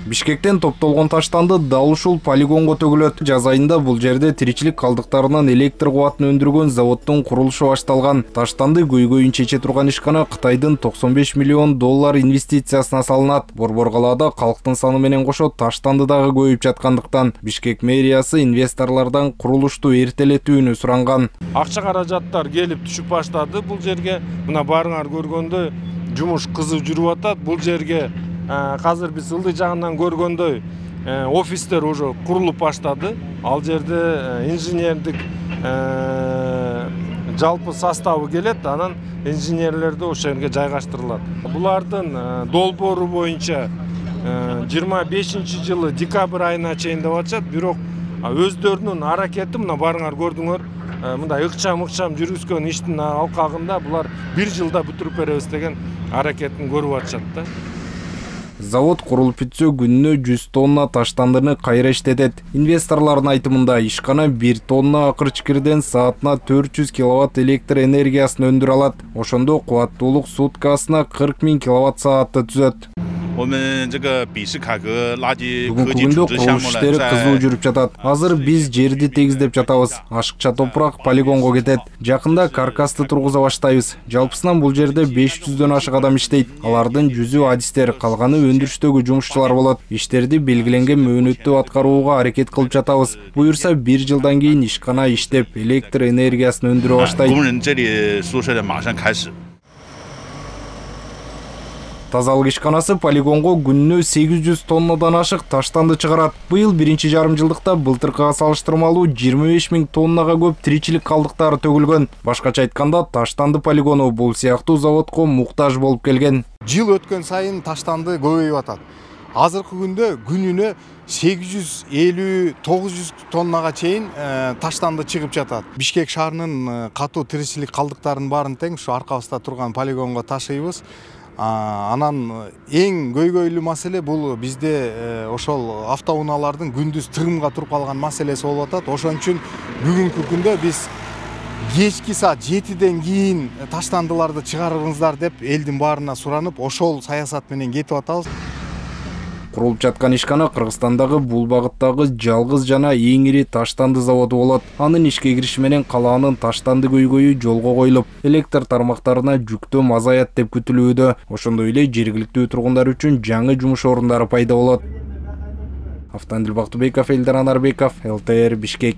Бишкектен топтолгон таштанды дал ушул полигонго төгүлөт. Жаз айында бул жерде тиричилик калдыктарынан электр кубатын өндүргөн заводдун курулушу башталган. Таштанды көйгөйүн чече турган ишкана Кытайдын $95 миллион инвестициясына салынат. Борбор калаада калктын саны менен кошо таштанды дагы көбөйүп жаткандыктан Бишкек мэриясы инвесторлордон курулушту эртелетүүнү суранган. Акча каражаттар келип түшүп баштады бул жерге. Мына барыңар көргөндөй жумуш кызып жүрүп атат. Бул жерге азыр биз ылдый жагынан көргөндөй офистер уже курулуп баштады. Ал жерде инженердик жалпы составы келет, анан инженерлерди ошол жерге жайгаштырылат. Булардын долбоору боюнча 25-жылы декабрь айына чейин деп атышат, бирок өздөрүнүн аракети мына барыңар көрдүңөр, мындай ыкчам жүргүзгөн иштин алкагында булар 1 жылда бүтүрүп беребиз деген аракетин көрүп атышат да. Завод курулуп бүтсө күнүнө 100 тонна таштандыны кайра иштетет. Инвесторлордун айтымында ишкана 1 тонна акырчкирден саатына 400 киловатт электр энергиясын өндүрө алат. Ошондо кубаттуулук суткасына 40 000 киловатт саатты түзөт. Бүгүнкү күндө курулуш иштери кызуу жүрүп жатат. Азыр биз жерди тегиздеп жатабыз. Ашыкча топурак полигонго кетет. Жакында каркасты тургуза баштайбыз. Жалпысынан бул жерде 500дөн ашык адам иштейт. Алардын 100ü адистер, калганы өндүрүштөгү жумушчулар болот. Иштерди белгиленген мөөнөттө аткарууга аракет кылып жатабыз. Буюрса 1 жылдан кийин ишкана иштеп, электр энергиясын өндүрө баштайт. Тазалык ишканасы полигонго күнүнө 800 тоннадан ашык таштанды чыгарат. Быйыл 1,5 жылдыкта былтыркыга салыштырмалуу 25 000 тоннага көп тиричилик калдыктары төгүлгөн. Башкача айтканда, таштанды полигону бул сыяктуу заводко муктаж болуп келген. Жыл өткөн сайын таштанды көбөйүп атат. Азыркы күндө күнүнө 850-900 тоннага чейин таштанды чыгып жатат. Бишкек шаарынын катуу тиричилик калдыктарынын баарын тең ушу аркабызда турган полигонго ташыйбыз. Анан эң көйгөйлүү маселе бул бизде ошол автоунаалардын күндүз тыгымга туруп калган маселеси болуп атат. Ошон үчүн бүгүнкү күндө биз кечки саат 7ден кийин таштандыларды чыгарыңыздар деп элдин баарына суранып, ошол саясат менен кетип атабыз. Курулуп жаткан ишкана Кыргызстандагы бул багыттагы жалгыз жана эң ири таштанды заводу болот. Анын ишке кириши менен калаанын таштанды көйгөйү жолго коюлуп, электр тармактарына жүктөм азаят деп күтүлүүдө. Ошондой эле жергиликтүү тургундар үчүн жаңы жумуш орундары пайда болот. Автандил Бактыбеков, Элдар Анарбеков, ЛТР Бишкек.